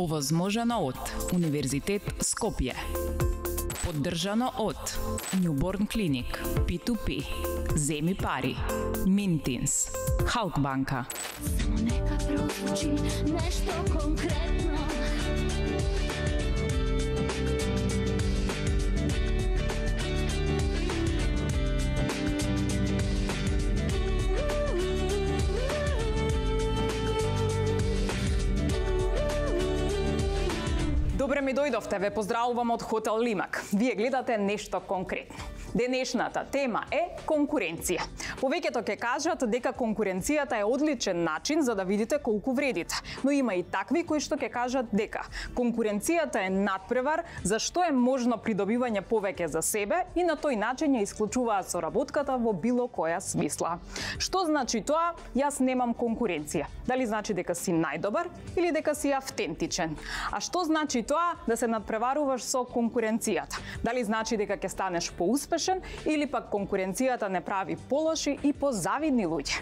Овозможено од Универзитет Скопје. Поддржано од Newborn Clinic, P2P, Земи пари, Mintins, Халкбанка. Само нека прозвучи нешто конкретно. Добре ми дојдовте, ве поздравувам од Хотел Лимак. Вие гледате нешто конкретно. Денешната тема е конкуренција. Повеќето ќе кажат дека конкуренцијата е одличен начин за да видите колку вредите, но има и такви кои што ќе кажат дека конкуренцијата е надпревар за што е можно придобивање повеќе за себе и на тој начин ја исклучуваат соработката во било која смисла. Што значи тоа? Јас немам конкуренција. Дали значи дека си најдобар или дека си автентичен? А што значи тоа да се надпреваруваш со конкуренцијата? Дали значи дека ќе станеш поуспешен или пак конкуренцијата не прави полоши и позавидни луѓе?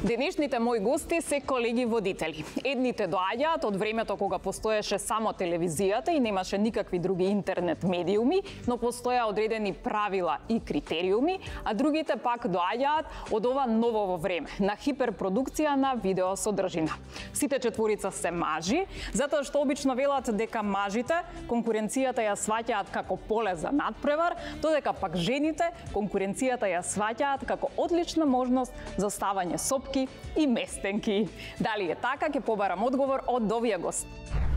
Денешните мои гости се колеги водители. Едните доаѓаат од времето кога постоеше само телевизијата и немаше никакви други интернет медиуми, но постоја одредени правила и критериуми, а другите пак доаѓаат од ова ново време, на хиперпродукција на видео содржина. Сите четворица се мажи, затоа што обично велат дека мажите конкуренцијата ја сваќаат како поле за надпревар, додека пак жените конкуренцијата ја сваќаат како одлична можност за ставање сопки и местенки. Дали е така, ќе побарам одговор од овие гости.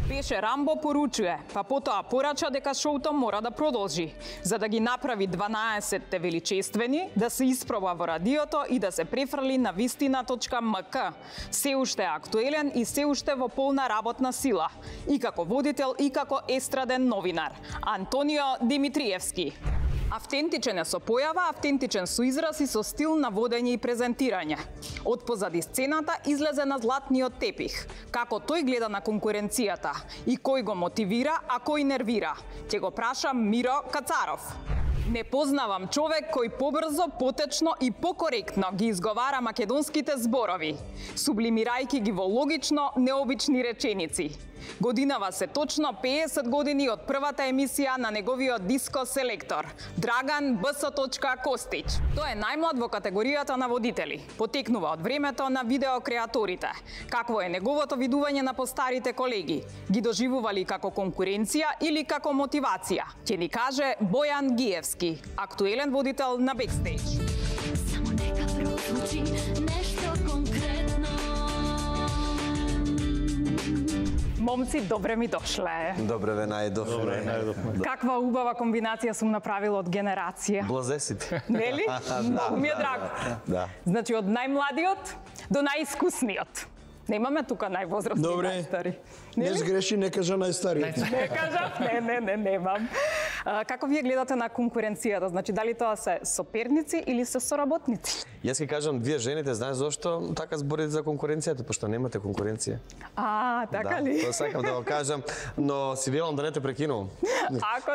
Пеше Рамбо поручуе, па потоа порача дека шоуто мора да продолжи, за да ги направи 12-те величествени, да се испроба во радиото и да се префрли на вистина.мк. Се уште актуелен и се уште во полна работна сила. И како водител, и како естраден новинар. Антонио Димитриевски. Автентичен е со појава, автентичен со израз и со стил на водење и презентирање. Од позади сцената излезе на златниот тепих. Како тој гледа на конкуренцијата и кој го мотивира, а кој нервира? Ќе го прашам Миро Кацаров. Не познавам човек кој побрзо, потечно и покоректно ги изговара македонските зборови, сублимирајќи ги во логично, необични реченици. Годинава се точно 50 години од првата емисија на неговиот диско селектор, Драган Б.С. Костич. Тој е најмлад во категоријата на водители. Потекнува од времето на видеокреаторите. Какво е неговото видување на постарите колеги? Ги доживували како конкуренција или како мотивација? Ќе ни каже Бојан Гиевски, актуелен водител на Бекстејдж. Само нека прозвучи нешто конкретно. Момци, добре ми дошле. Добре ве најдов. Каква убава комбинација сум направила од генерација. Блазесите. Нели? Многу ми е драго. Да. Значи од најмладиот до најискусниот. Немаме тука највозрастни и најстари. Не сгреши, не кажа најстариот. Не кажав, не, немам. Како вие гледате на конкуренцијата? Значи, дали тоа се соперници или се соработници? Јас ќе кажам, вие жените, знаеш зошто така зборите за конкуренцијата? Пошто немате конкуренција. Така ли? Тоа сакам да го кажам, но си велам да не те прекинувам.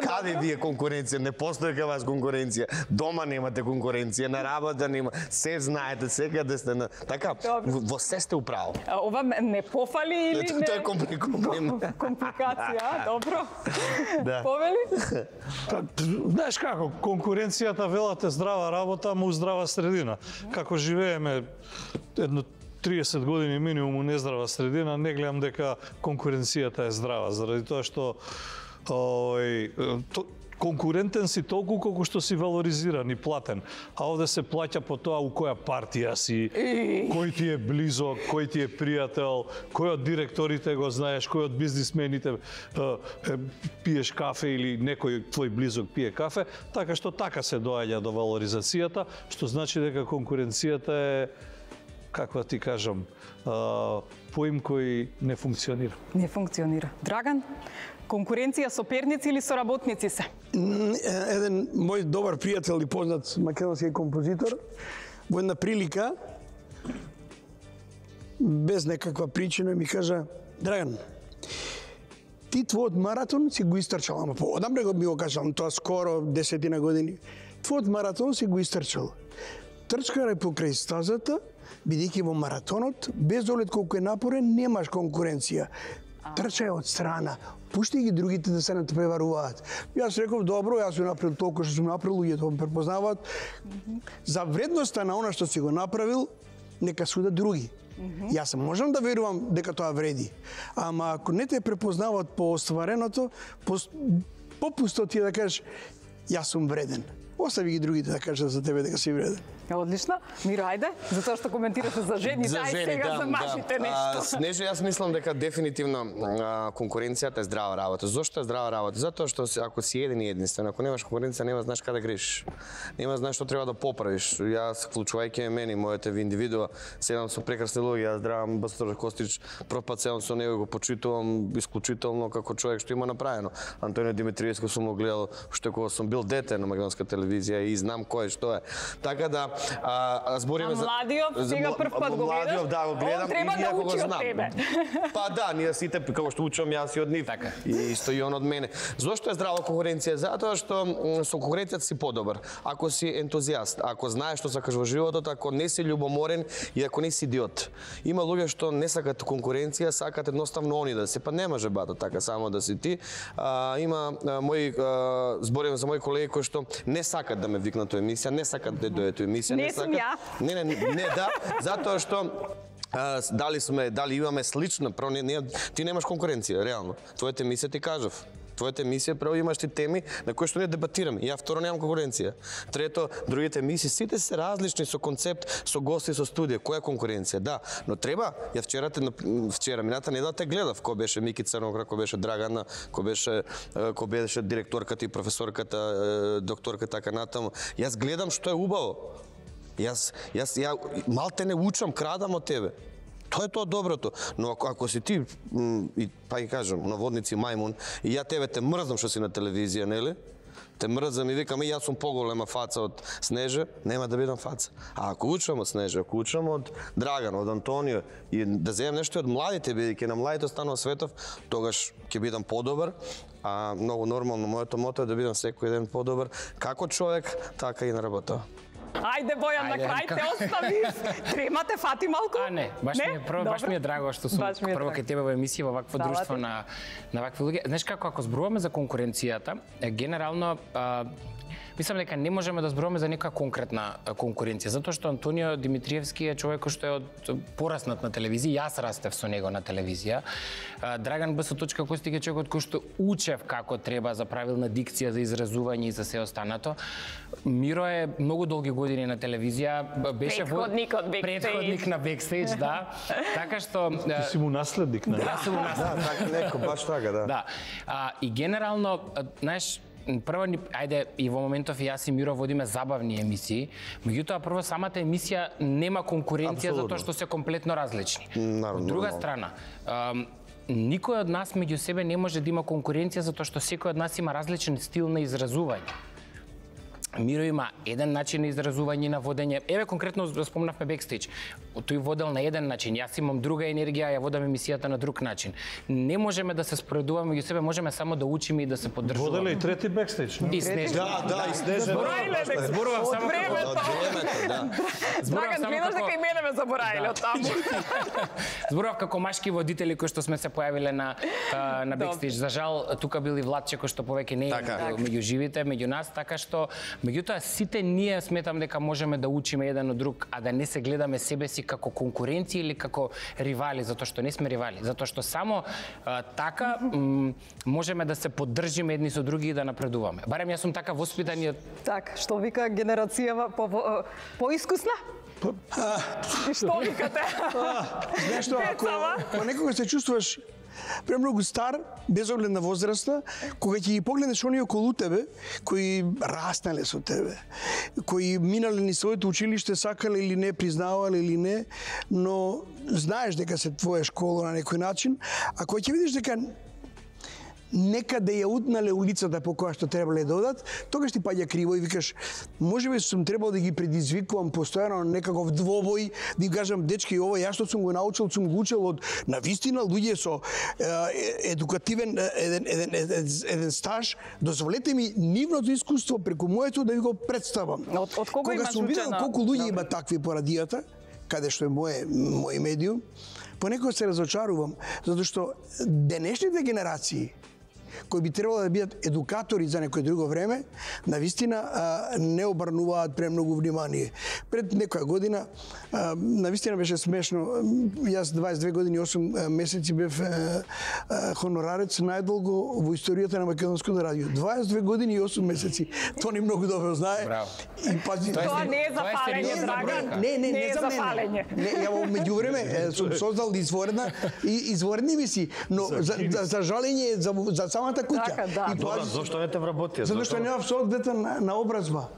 Каде вие конкуренција? Не постои кај вас конкуренција. Дома немате конкуренција, на работа нема. Се знаете, секаде сте на... Така, во се сте управо. Ова не пофали или не? Тоа е компликација, добро. Да. Повели? Знаеш како, конкуренцијата велате здрава работа, му здрава средина. Како живееме едно 30 години минимум у нездрава средина, не гледам дека конкуренцијата е здрава, заради тоа што конкурентен си толку колку што си валоризиран и платен. А овде се плаќа по тоа у која партија си, кој ти е близок, кој ти е пријател, кој од директорите го знаеш, кој од бизнисмените пиеш кафе или некој твој близок пие кафе, така што така се доаѓа до валоризацијата, што значи дека конкуренцијата е, каква ти кажам, поим кој не функционира. Не функционира. Драган, конкуренција соперници или соработници се? Еден мој добар пријател и познат македонски композитор во една прилика без некаква причина ми кажа: Драган, ти твојот маратон си го истрчал, ама поодамре ми го кажам, тоа скоро 10 години. Твојот маратон си го истрчал. Трчкарај покрај стазата бидејќи во маратонот, без оглед колку е напорен, немаш конкуренција. Трчај од страна, пушти ги другите да се не преваруваат. Јас реков, добро, јас сум направил толку што сум направил, луѓето ме препознаваат. За вредноста на она што си го направил, нека судат други. Јас можам да верувам дека тоа вреди, ама ако не те препознаваат по оствареното, попусто ти да кажеш, јас сум вреден. Остави ги другите да кажат за тебе дека си вреден. Одлично. Миро, ајде, затоа што коментираше за жени, За дај жени, сега за мажите нешто. Снежо, јас мислам дека дефинитивно конкуренцијата е здрава работа. Зошто е здрава работа? Затоа што ако си еден и единствен, ако немаш конкуренција, нема знаеш каде грешиш. Нема знаеш што треба да поправиш. Јас, вклучувајќи мене, моите индивидуа, седам со прекрасни луѓе, јас здравам Бастор Костич, прв пат седам со него и го почитувам исклучително како човек што има направено. Антонио Димитриевски сум го гледал уште кога сум бил дете на македонска телевизија и знам кој што е. Така да збориме за Младиот, сега прв пат го гледаш. Младиот, да, го гледам Он треба и да иако го учи од знам. тебе. Па да, ние сите како што учам јас и од нив. Така. И исто и он од мене. Зошто е здрава конкуренција? Затоа што со конкуренцијата си подобар. Ако си ентузијаст, ако знаеш што сакаш во животот, ако не си љубоморен и ако не си идиот. Има луѓе што не сакат конкуренција, сакат едноставно они да се, па не може бата така само да си ти. Има мои зборувам за мои колеги кои што не сакат да ме викнат во емисија, не сакат да дојдат во емисија, Не сум ја. Не, да, затоа што дали имаме слично, ти немаш конкуренција, реално. Твоите емисија ти кажав. Твоите емисија прво имаш ти теми на кои што ние дебатираме. Ја второ немам конкуренција. Трето, другите емисии сите се различни со концепт, со гости, со студија. Која е конкуренција? Да, но треба. Ја вчера мината недела те гледав. Кој беше Мики Црногра, кој беше Драгана, кој беше директорката и професорката, докторката така натаму. Јас гледам што е убаво. Ја малте не учам, крадам од тебе. Тоа е тоа доброто. Но ако си ти, па ги кажам, наводници мајмун, и ја тебе те мрзам што си на телевизија, нели? Те мрзам и викам, јас сум поголема фаца од Снежа, нема да бидам фаца. А ако учам од Снежа, ако учам од Драган, од Антонио, и да земам нешто од младите, бидејќи на младите останува светов, тогаш ќе бидам подобар. А многу нормално, моето мото е да бидам секој ден подобар, како човек, така и на работа. Ајде, Бојан, на крај те оставиш. Тремате, фати малку? Не, баш ми е драго што сум прво кај тебе во емисија во вакво друштво на вакви луѓе. Знаеш како, ако зборуваме за конкуренцијата, генерално мислам дека не можеме да зборуваме за некоја конкретна конкуренција, затоа што Антонио Димитриевски е човек кој што е пораснат на телевизија, јас растев со него на телевизија. Драган Б. Костик е човекот кој што учев како треба за правилна дикција, за изразување и за се останато. Миро е многу долги години на телевизија, беше предходник на Бекстејдж, да. Така што ти си му наследник, не? Да, сум му наследник. Така некој баш така, да. Да. И генерално, знаеш, прво, ајде, и во моментов и јас и Миро водиме забавни емисии, меѓутоа прво самата емисија нема конкуренција затоа што се комплетно различни. Од друга страна, никој од нас меѓу себе не може да има конкуренција затоа што секој од нас има различен стил на изразување. Миро има еден начин на изразување, на водење. Еве конкретно спомнавме Бекстејдж. Тој водел на еден начин, јас имам друга енергија, ја водам емисијата на друг начин. Не можеме да се споредуваме меѓу себе, можеме само да учиме и да се поддржуваме. Воделе и трети Бекстејдж, И Снежа. Да, и Снежа. Зборувам само како Драган, гледаш дека и мене ме забораиле од таму. Зборував како машки водители кои што сме се појавиле на Бекстејдж. За жал, тука бил и Владче кој што повеќе не е меѓу живите, меѓу нас, така што меѓутоа сите ние сметам дека можеме да учиме еден од друг, а да не се гледаме себе си како конкуренција или како ривали, затоа што не сме ривали, затоа што само така можеме да се поддржиме едни со други и да напредуваме. Барем јас сум така воспитан и Так, што вика генерацијава поискусна? И што викате? Знаеш што, ако некога се чувствуваш премногу стар, без оглед на возраста, кога ќе ги погледнеш оние околу тебе, кои раснале со тебе, кои минале ни своето училиште, сакале или не, признавале или не, но знаеш дека се твоја школа на некој начин, а кога ќе видиш дека некаде ја утнале улицата по која што требале да одат, тогаш ти паѓа криво и викаш, можеби сум требал да ги предизвикувам постојано на некаков двобој, да им кажам, дечки, ова ја што сум го научил, сум го учил од навистина луѓе со едукативен еден стаж, дозволете ми нивното искуство преку моето да ви го представам. Од кого Кога имаш сум видел учено? колку луѓе има такви по радијата, каде што е мој медиум, понекогаш се разочарувам, затоа што денешните генерации кои би требало да бидат едукатори за некој друго време, навистина не обрнуваат премногу внимание. Пред некоја година, навистина беше смешно, јас 22 години и 8 месеци бев хонорарец најдолго во историјата на Македонското радио. 22 години и 8 месеци. Тони многу добро знае. Браво. И пази, Тоа не е за фалење, Драган. Не за фалење. Не, ја во меѓувреме сум создал изворни емисии, но за жалење за самата куќа. Така, да. И Добра, зошто не те вработија? Затоа што нема соодветна на образба.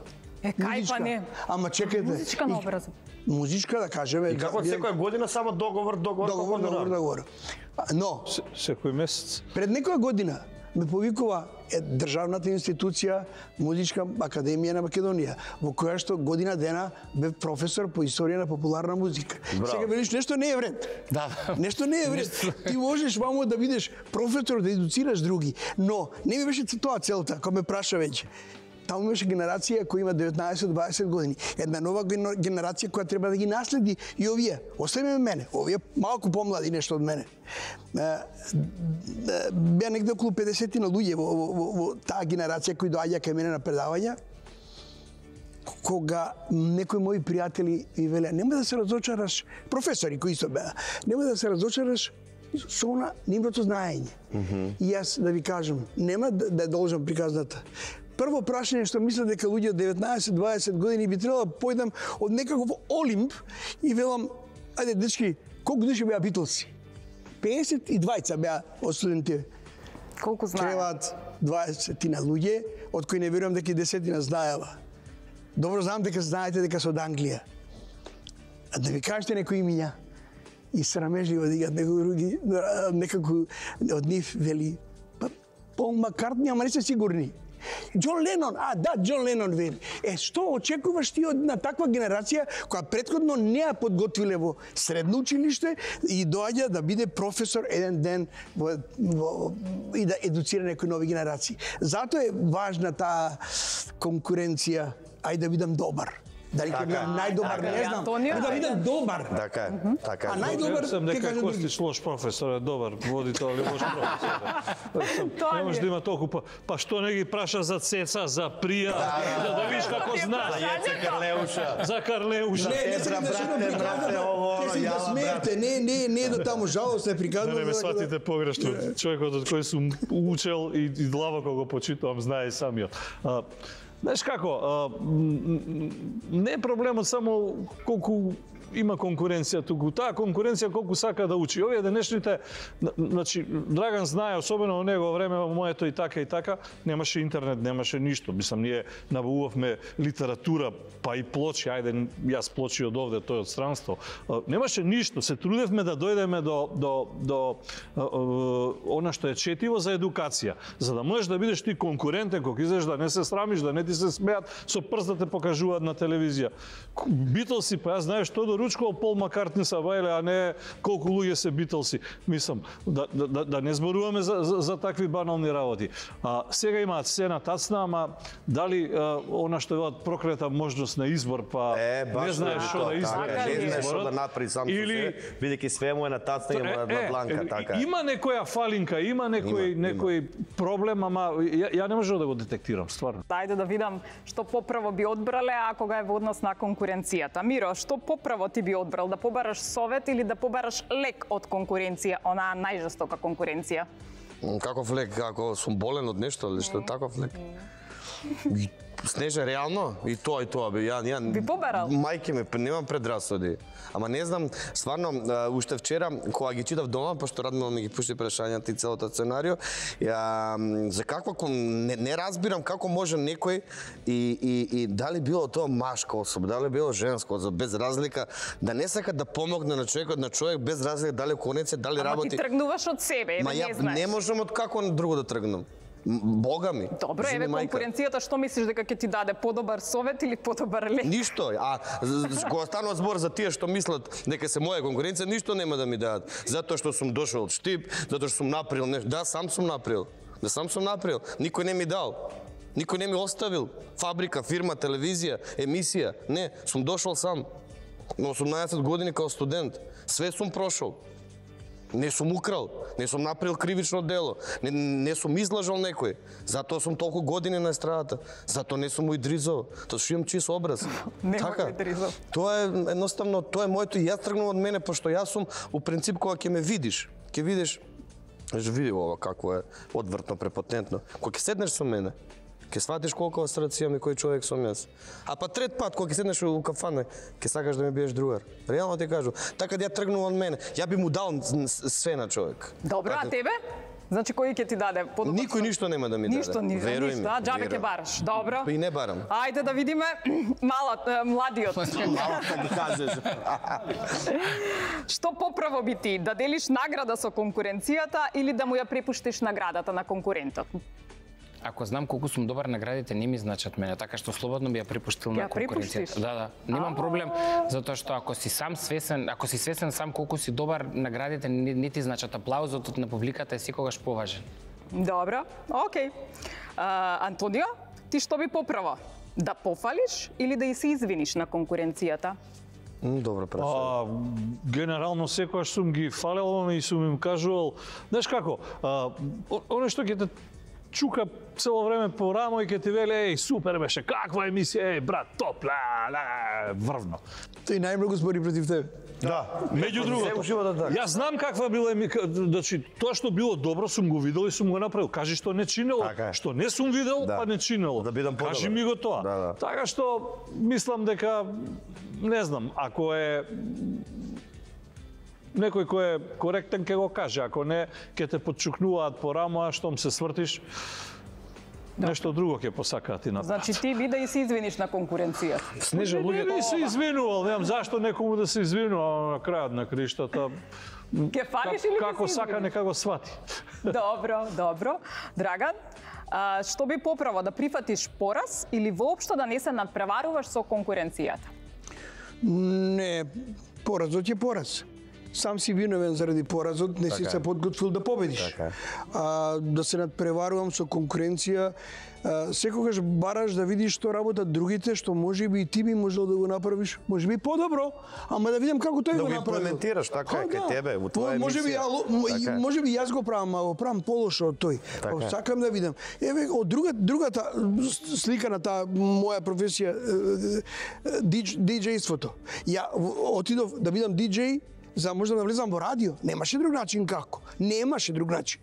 Кај па не? Ама чекајте. Музичка на образба. Музичка, да кажеме. И како секоја година само договор. Но Секој месец. пред некоја година ме повикува државната институција Музичка академија на Македонија, во која што година дена бев професор по историја на популарна музика. Сега велиш нешто не е вред. Да. Нешто не е вред. Ти можеш вамо да бидеш професор, да едуцираш други, но не ми беше тоа целта, кога ме праша веќе. Таму имаше генерација која има 19-20 години. Една нова генерација која треба да ги наследи и овие. Оставиме мене, овие малку помлади нешто од мене. Беа негде околу 50 на луѓе во таа генерација кои доаѓа кај мене на предавања. Кога некои мои пријатели ми велеа, нема да се разочараш, професори кои исто беа, нема да се разочараш со она нивното знаење. И јас да ви кажам, нема да должам приказната. Прво прашање што мислам дека луѓе од 19-20 години би требало да појдам од некаков Олимп и велам, ајде дечки, колку души беа Битлси? 52 беа од студенти. Колку знаат? Требаат 20 на луѓе, од кои не верувам дека и 10 знаела. Добро знам дека знаете дека се од Англија. А да ви кажете некои имиња и срамежливо дигат некои други, некако од нив вели, па Пол Маккартни, ама не се сигурни. Џон Ленон, Џон Ленон вели. Што очекуваш ти од на таква генерација која претходно не ја подготвиле во средно училиште и доаѓа да биде професор еден ден и да едуцира некои нови генерации. Затоа е важна таа конкуренција, ајде да бидам добар. Дали ќе бидам најдобар, не знам, да бидам добар. Така е, така е. А најдобар Сам ќе дека кажам други. Костич лош професор е добар водител или лош професор. Не може да има толку па што не ги праша за Цеца, за Прија, да видиш како знаеш. За Јеце Карлеуша. За Карлеуша. Не сакам да шедам приказната, ќе се да смеете, не до таму жалост не приказната. Не ме сватите погрешно. Човекот од кој сум учел и длабоко го почитувам, знае и самиот. Знаеш како, не е проблемот само колку има конкуренција туку. Таа конкуренција колку сака да учи. Овие денешните, значи Драган знае, особено во негово време, во моето и така, немаше интернет, немаше ништо. Мислам, ние набавувавме литература, па и плочи, ајде, јас плочи од овде, тој од странство. Немаше ништо, се трудевме да дојдеме до она што е четиво за едукација, за да можеш да бидеш ти конкурентен, кога излезеш да не се срамиш, да не ти се смеат, со прст да те покажуваат на телевизија. Битлси, па јас знаеш што ручкал Пол Маккартни са бајле, а не колку луѓе се Битлси. Мислам, да не зборуваме за такви банални работи. Сега имаат сцена тацна, ама дали она што е проклета можност на избор, па не знаеш што да избереш. Не знаеш што да направи сам со себе, бидејќи све му е на тацна и на бланка, така. Има некоја фалинка, има некој проблем, ама ја не можам да го детектирам, стварно. Ајде да видам што поправо би одбрале, а кога е во однос на конкуренцијата. Миро, што поправо ти би одбрал? Да побараш совет или да побараш лек од конкуренција, онаа најжестока конкуренција? Каков лек? Ако сум болен од нешто или што таков лек? Снеже, реално? И тоа, бе, ја... Би побарал? Мајке ме, немам предрасуди. Ама не знам, стварно, уште вчера, кога ги читав дома, пошто Радмила ми ги пушти прашањата и целото сценарио, за каква... Не разбирам како може некој и дали било тоа машка особа, дали било женско, без разлика, да не сака да помогне на човек без разлика дали конец, дали работи... Ама ти тргнуваш од себе, не знаеш. Не можам од како друго да тргнам. Бога ми. Добро, еве конкуренцијата, што мислиш дека ќе ти даде подобар совет или подобар лек? Ништо, кога станува збор за тие што мислат дека се моја конкуренција, ништо нема да ми дадат. Затоа што сум дошол од Штип, затоа што сум направил нешто. Да, сам сум направил. Никој не ми дал. Никој не ми оставил. Фабрика, фирма, телевизија, емисија. Не, сум дошол сам. На 18 години као студент. Све сум прошол. Не сум украл, не сум направил кривично дело, не сум излажал некој. Затоа сум толку години на естрадата. Затоа не сум уидризал. Тоа што имам чист образ. Така. Тоа е едноставно, тоа е моето и јас тргнувам од мене, пошто јас сум у принцип кога ќе ме видиш, ќе видиш, види ова како е одвртно, препотентно. Кога ќе седнеш со мене, ќе сватиш колку срце имам и кој човек сум јас. А па трет пат кога ќе седнеш у кафана, ќе сакаш да ми биеш другар. Реално ти кажу, така да ја тргнувам од мене. Ја би му дал све на човек. Добро, а тебе? Значи кој ќе ти даде? Никој ништо нема да ми даде. Ништо, а џабе ќе бараш. Добро. И не барам. Ајде да видиме младиот. Малата ги кажеш. Што поправо би ти, да делиш награда со конкуренцијата или да му ја препуштиш наградата на конкурентот? Ако знам колку сум добар, наградите не ми значат мене, така што слободно би ја препуштил на конкуренцијата. Да, немам проблем, затоа што ако си свесен сам колку си добар, наградите не ти значат. Аплаузот на публиката е секогаш поважен. Добро, окей. Антонио, ти што би поправо? Да пофалиш или да и се извиниш на конкуренцијата? Добро прашање. Генерално секогаш сум ги фалел и сум им кажувал, знаеш како, оно што ќе те чука цело време по рамо и ќе ти вели, еј, супер беше, каква емисија, еј, брат, топ, врвно. Тој најмногу збори против тебе. Да, меѓу другото. Јас знам каква била емисија, значи, тоа што било добро сум го видел и сум го направил. Кажи што не чинело, што не сум видел, па не чинело. Да бидам подобар. Кажи ми го тоа. Така што, мислам дека, не знам, ако е некој кој е коректен ќе го каже, ако не ќе те подчукнуваат по рамо, а штом се свртиш, нешто друго ќе посакаат и направат. Значи ти би да и се извиниш на конкуренцијата. Снежа, луѓе, не би се извинувал, немам зашто некому да се извинува на крајот на криштата. Ке фалиш или како сака нека го свати. Добро. Драган, што би поправо, да прифатиш пораз или воопшто да не се надпреваруваш со конкуренцијата? Не, поразот е пораз. Сам си виновен заради поразот, не си се подготвил да победиш. Да се надпреварувам со конкуренција, секогаш бараш да видиш што работат другите, што можеби и ти би можел да го направиш, можеби подобро, ама да видам како тој го направил. Да го имплементираш, така е кај тебе, во твоја емисија. Можеби јас го правам, а го правам полошо од тој. Сакам да видам. Еве, од другата слика на таа моја професија, диџејството. Ја отидов да бидам диџеј, за можда да влезам во радио. Немаше друг начин како. Немаше друг начин.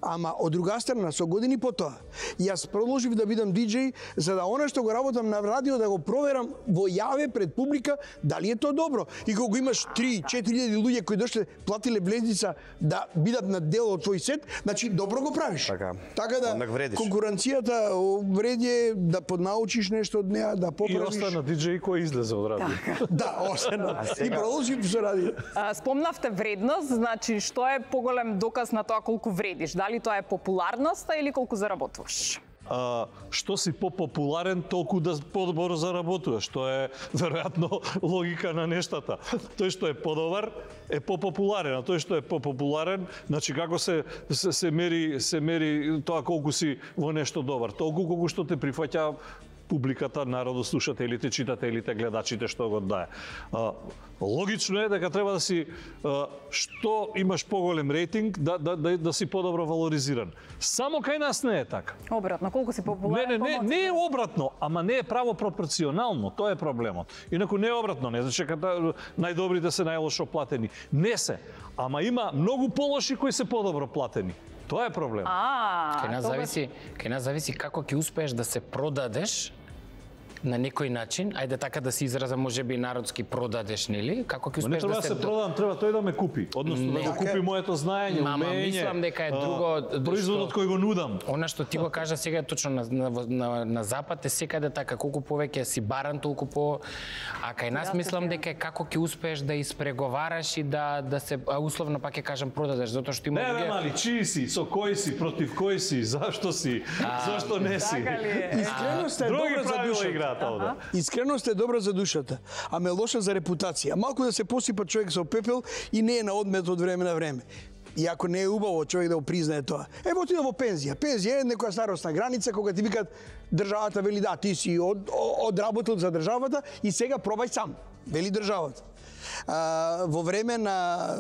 Ама од друга страна, со години потоа, јас продолжив да бидам диџеј, за да она што го работам на радио да го проверам во јаве пред публика дали е тоа добро. И кога имаш 3-4 луѓе кои дошле платиле влезница да бидат на дел од твој сет, значи добро го правиш. Така да конкуренцијата вреди да поднаучиш нешто од неа, да поправиш. И остана диџеј кој излезе од радио. Да, остана. И продолжив со радио. Спомнавте вредност, значи што е поголем доказ на тоа колку вреди? Дали тоа е популарноста или колку заработуваш? Што си попопуларен, толку да подобро заработуваш. Тоа е веројатно логика на нештата. Тој што е подобар е попопуларен, а тој што е попопуларен, значи како се мери тоа колку си во нешто добар. Толку колку што те прифаќа публиката, народот, слушателите, читателите, гледачите што го дае. Логично е дека треба да си што имаш поголем рейтинг да си подобро валоризиран. Само кај нас не е така. Обратно, колку си популарен? Не е обратно, ама не е право пропорционално, тоа е проблемот. Инаку не е обратно, не значи дека најдобрите се најлошо платени. Не се, ама има многу полоши кои се подобро платени. Тоа е проблем. Кај нас зависи како ќе успееш да се продадеш на некој начин, ајде така да се изразам, можеби народски продадеш, нели? Како ќе успееш да се продам, треба тој да ме купи, односно да го купи моето знаење, умење. Мислам дека е друго производот кој го нудам. Она што ти го кажа сега точно на запад е секаде така, колку повеќе си баран, толку по, а кај нас мислам дека како ќе успееш да испреговараш и да се условно пак ќе кажам продадеш, затоа што има луѓе. Не, мали, чии си, со кој си, против кој си, зашто си, зашто не си. Искреност е добра за душата. Искреност е добра за душата, ама е лоша за репутација. Малку да се посипа човек со пепел и не е на одмет од време на време. И ако не е убаво човек да го признае тоа. Ево отида во пензија. Пензија е некоја старосна граница кога ти викат државата вели да, ти си одработил за државата и сега пробај сам. вели државата. Во време на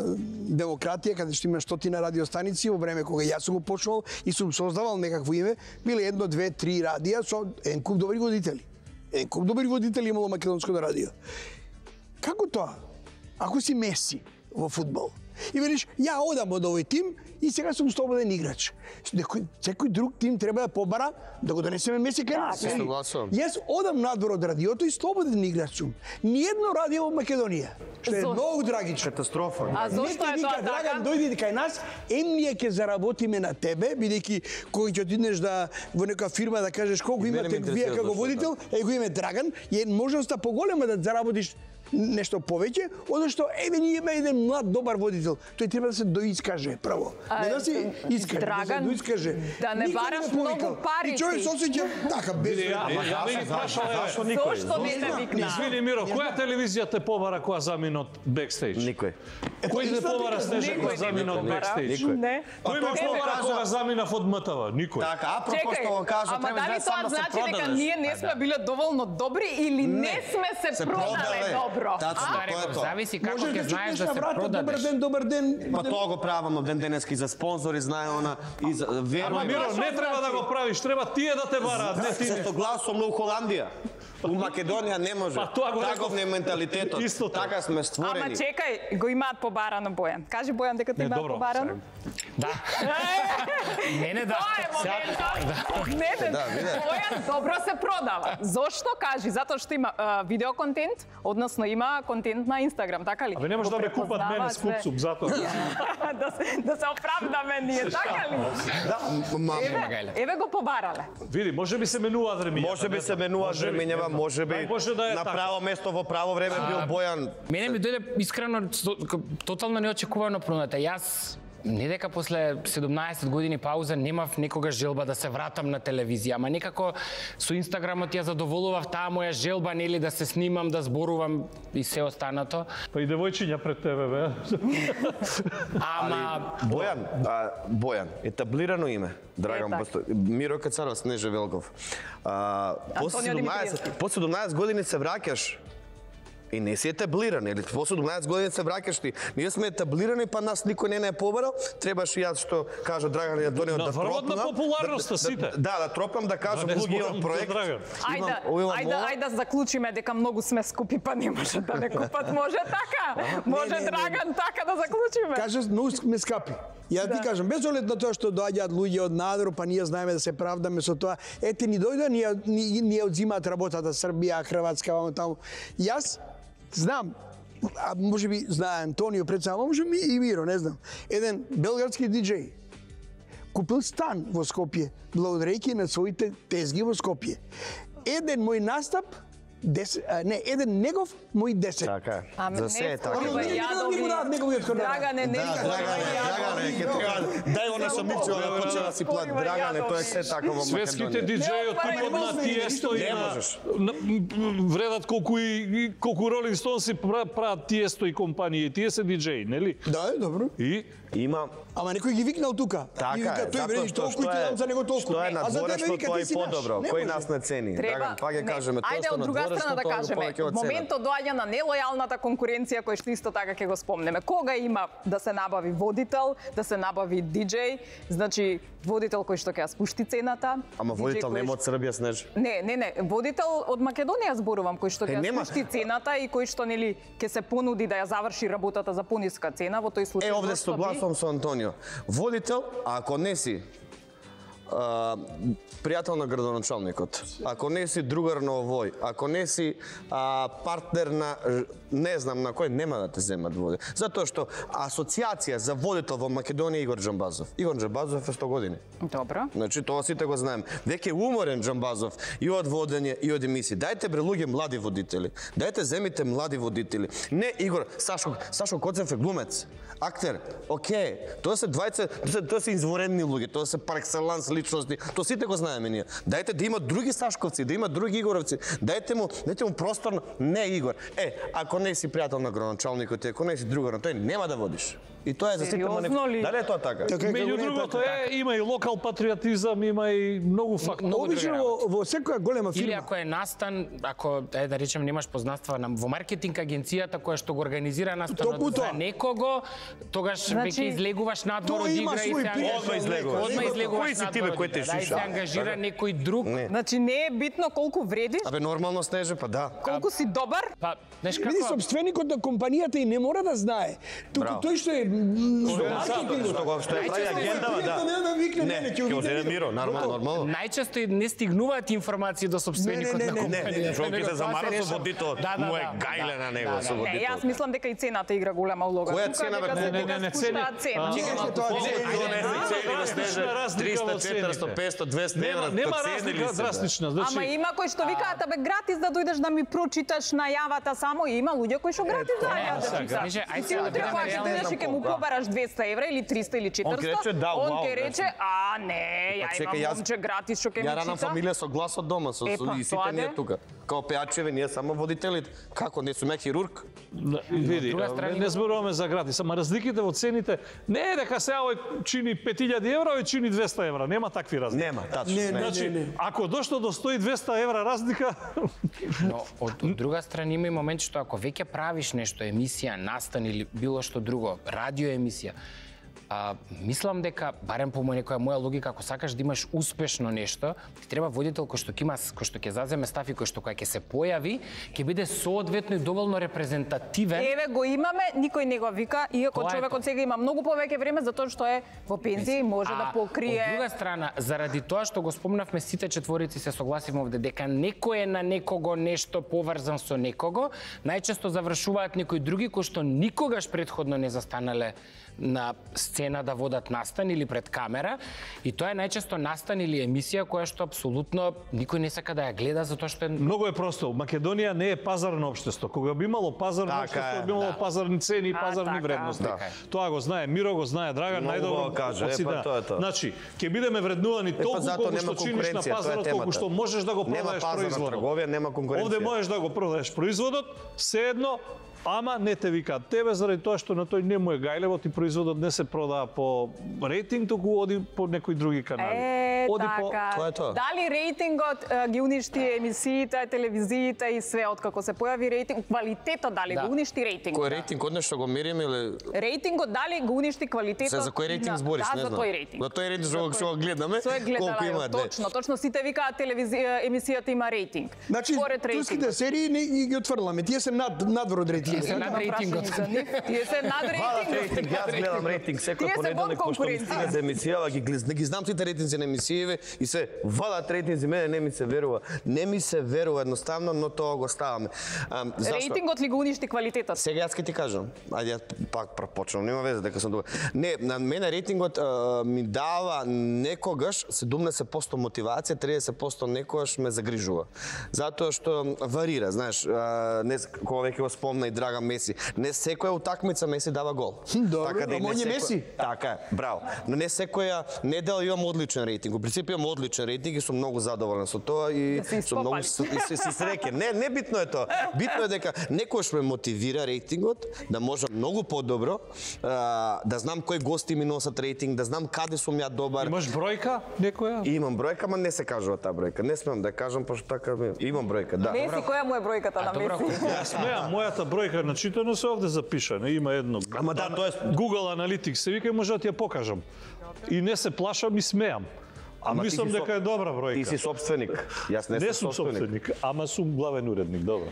демократија, каде што има 100 радиостаници, во време кога јас сум го почнал и сум создавал некакво име, биле 1, 2, 3 радија со еден куп добри водители. Еден куп добри водители имало македонското радио. Како тоа? Ако си Меси во фудбал и велиш, ја одам од овој тим и сега сум слободен играч. Секој друг тим треба да побара да го донесеме Меси кај нас. Јас одам надвор од радиото и слободен играч сум. Ниедно радио во Македонија. Што е многу трагично. Катастрофа. А зошто е тоа така? Драган, дојди кај нас, ние ќе заработиме на тебе, бидејќи кога ќе отидеш да во нека фирма да кажеш колку имате вие како водител, го име Драган, е можноста поголема да заработиш нешто повеќе, одно што еве ние имаме еден млад добар водител, тој треба да се доискаже прво. Не да се искаже, Драган, да се доискаже. Да не бараш многу пари. И човек се осеќа така без. Зошто не те викна? Извини Миро, која телевизија те побара кога замина од бекстејдж? Никој. Кој те побара Снежа кога замина од бекстејдж? Не. Кој ме побара кога замина од МТВ? Никој. Така, апропо што го кажа, ама треба дали да само тоа се значи дека продадеш. ние не сме биле доволно добри или не сме се продале добро? Тачно, тоа е тоа. Зависи како Може ќе да знаеш чукнеш да на се врата, продадеш. добар ден. Па тоа го правам од ден денески за спонзори, знае она и за Ама верувај. Миро, не треба да го правиш, треба тие да те бараат, не ти. Зашто гласом у Холандија. У Македонија не може. Па тоа го Таков не е менталитетот. Исто така. Така сме Ама створени. чекај, го имаат побарано Бојан. Кажи Бојан дека те Не, имаат добро, побарано. Да. Мене да. Тоа е моментот. Не, Да, виде. Бојан добро се продава. Зошто кажи? Затоа што има видеоконтент, односно има контент на Инстаграм, така ли? Абе не може да ме купат мене с купсуп, затоа. Да се оправдаме ние, така ли? Еве го побарале. Види, може би се менуваат времињата. Може би се менуваат времињава, може би Дај Боже да е на така. право место во право време бил Бојан. Мене ми дојде искрено тотално неочекувано проната. Јас не дека после 17 години пауза немав некогаш желба да се вратам на телевизија, ама некако со Инстаграмот ја задоволував таа моја желба, нели, да се снимам, да зборувам и се останато. Па и девојчиња пред тебе, бе. Ама Бојан, етаблирано име. Драган така. Миро Кацаров, Снежа Велков. После Антонио Димитриевски. 17 години се враќаш и не си етаблиран, или после 17 години се враќаш ти. Ние сме етаблирани, па нас никој не е побарал. Требаше јас што кажа Драган ја донео да врвот на тропнам. популарноста сите. Да тропнам да кажам Да не луѓе зборам од за проект. Драган. Ајде да заклучиме дека многу сме скупи, па не може да не купат. Може така? Може не, Драган така да заклучиме? Кажеш, многу сме скапи. Ја ти кажам, без оглед на тоа што доаѓаат луѓе од надвор, па ние знаеме да се правдаме со тоа. Ете ни дојде, ние одзимаат работата Србија, Хрватска, вамо таму. Јас знам, а може би знае Антонио пред само, може би и Миро, не знам. Еден белградски диџеј купил стан во Скопје, благодарејќи на своите тезги во Скопје. Еден мој настап, еден негов, мој 10. Така е. Ама За се е така. Драгане, не Драгане, ќе треба дај она самиција да почне да си плати. Драгане, тоа е се така во Светските Македонија. диџеи од типот на Тиесто и Не на можеш. вредат колку Ролинг Стоунси прават Тиесто и компанија. Тие се диџеи, нели? Да, добро. И Има Ама некој ги викнал тука. Така И вика, е, тој затоа вреди што толку и ти дам за него толку. Што е на А за тебе дворешто, вика, тоа ти е си наш. подобро. Не Кој можеш. нас не цени? Драган, па ќе кажеме тоа Ајде што од на друга дворешто, страна да тоа го кажеме. повеќе од цена. Моментот доаѓа на нелојалната конкуренција која што исто така ќе го спомнеме. Кога има да се набави водител, да се набави диџеј, значи водител кој што ќе ја спушти цената. Ама диџеј водител кој нема што- од Србија, Снеж. Не, водител од Македонија зборувам, кој што ќе ја нема. спушти цената и кој што нели ќе се понуди да ја заврши работата за пониска цена, во тој случај. Овде зошто би? согласувам со Антонио. Водител, ако не си пријател на градоначалникот, ако не си другар на овој, ако не си партнер на не знам на кој, нема да те земат води. Затоа што асоциација за водител во Македонија е Игор Џамбазов. Игор Џамбазов е 100 години. Добро. Значи тоа сите го знаеме. Веќе уморен Џамбазов и од водење и од емисии. Дајте бре луѓе млади водители. Дајте земите млади водители. Не Игор, Сашо Коцев е глумец, актер. Океј, тоа се двајца, тоа се изворени луѓе, тоа се пар екселанс личности. Тоа сите го знаеме ние. Дајте да има други Сашковци, да има други Игоровци. Дајте му простор, не Игор. Ако не си пријател на градоначалникот, ако не си другар на тој, нема да водиш. И тоа е за сите Сериозно ли? Дали е тоа така? Меѓу другото има и локал патриотизам, има и многу фактори. Обично во секоја голема Или фирма. ако е настан, ако да речем немаш познанства во маркетинг агенцијата која што го организира настанот за некого, тогаш веќе излегуваш надвор од игра и Одма излегуваш. Кои си тибе кој те да, и се ангажира некој друг. Значи не е битно колку вредиш, Абе нормално Снеже, па да. колку си добар. Па, знаеш Види, како? собственикот на компанијата и не мора да знае. Туку тој што е Што е прави агендава, да. Не, ќе оземе миро, нормално. Најчесто и не стигнуваат информации до собственикот на компанијата. Жолките замара со водител, му е гајле на него со Не, водител. јас мислам дека и цената игра голема улога. Која Тука цена, бе? дека се Не, дека цени. спуштаат цена. 300, 400, 500, 200 евра. Нема разлика драстична, значи. Ама има кои што викаат, абе гратис да дојдеш да ми прочиташ најавата само, и има луѓе кои што гратис да ја читаат. Ајде Ти утре да кога ќе дојдеш и ќе му побараш 200 евра или 300 или 400, Он ќе рече, да, он вау, ќе рече, а не, ја чекај, имам јас- момче гратис што ќе ми Ја ранам чита. фамилија со глас од дома, со Е, па, и сите тоа ние де. тука. Као пеачеви, ние само водителите. Како, не сум ја хирург? Види, друга страна не зборуваме за гратис, ама разликите во цените не е дека сега овој чини 5000 евра, овој чини 200 евра, нема такви разлики. Нема, тачно. Значи, ако дошло до 100-200 евра разлика, Но од друга страна има и момент што ако веќе правиш нешто, емисија, настан или било што друго, радио емисија, мислам дека, барем по некоја моја логика, ако сакаш да имаш успешно нешто, ти треба водител кој што ќе заземе стаф и кој што кога ќе се појави, ќе биде соодветно и доволно репрезентативен. Еве го имаме, никој не го вика, иако Тоа е човекот сега има многу повеќе време затоа што е во пензија и може да Од покрие. друга страна, заради тоа што го спомнавме сите четворици се согласивме овде дека некој е на некого нешто поврзан со некого, најчесто завршуваат некои други кои што никогаш претходно не застанале на сцена да водат настан или пред камера, и тоа е најчесто настан или емисија која што апсолутно никој не сака да ја гледа затоа што е многу е просто. Македонија не е пазарно општество. Кога би имало пазарно Така општество, е, би имало да. пазарни цени и пазарни така. вредности. Така е. Тоа го знае Миро, го знае Драган, Многу најдобро го каже, од сите. па тоа е тоа. Значи, ќе бидеме вреднувани толку затоа колку нема што чиниш на конкуренција, тоа е пазарот, колку темата. што можеш да го Нема продаеш пазарна производот. трговија, нема конкуренција. Овде можеш да го продаеш производот, седно, ама не те викаат тебе заради тоа што на тој не му е гајлево, ти производот не се продава по рейтинг, туку оди по некои други канали. Оди Така. Тоа е тоа. Дали рейтингот ги уништи емисиите, телевизиите и све откако се појави рейтинг, квалитетот дали го уништи рейтингот? Кој рейтинг, од нешто го мериме или... Рейтингот дали го уништи квалитетот? За кој рейтинг збориш, да, не за знам. тој рейтинг. За тој рейтинг што го гледаме, Со е гледала, колку има, точно сите викаат емисијата има рейтинг. Значи, Според турските рейтингот. серии не ги отфрламе. Тие се надвор од рейтингот. се над Има рейтингот. прашање за нив. Тие се над рейтингот. Јас гледам рейтинг Тие секој се понеделник во пошто ми конкуренција. стига за емисија, ги знам сите рейтинзи на емисиите и се вадат рейтинзи, мене не ми се верува. Не ми се верува едноставно, но тоа го ставаме. Зашто? Рейтингот ли го уништи квалитетот? Сега јас ќе ти кажам. Ајде ја пак почнам, нема веза дека сум добар. Не, на мене рейтингот ми дава некогаш 70% мотивација, 30% некогаш ме загрижува. Затоа што варира, знаеш, не кога веќе го спомна и Драган Меси, не секоја утакмица Меси дава гол. Добро, и ама он е Меси. Така е, браво. Но не секоја недела имам одличен рейтинг. Во принцип имам одличен рейтинг и сум многу задоволен со тоа и Да се сум многу испопали. си среќен. Не битно е тоа. Битно е дека некојаш ме мотивира рейтингот да можам многу подобро, да знам кои гости ми носат рейтинг, да знам каде сум ја добар. Имаш бројка некоја? И имам бројка, ама не се кажува таа бројка. Не смеам да ја кажам пошто така имам бројка, да. Меси, која му е бројката на добро, Меси? Јас смеам, мојата бројка на читано се овде запишана. Има едно. Ама да, тоа е Google Analytics се вика и може да ти ја покажам. И не се плашам и смеам. Ама ти Мислам си дека е добра бројка. Ти си собственик. Јас не Не сум сум собственик, ама сум главен уредник, добро.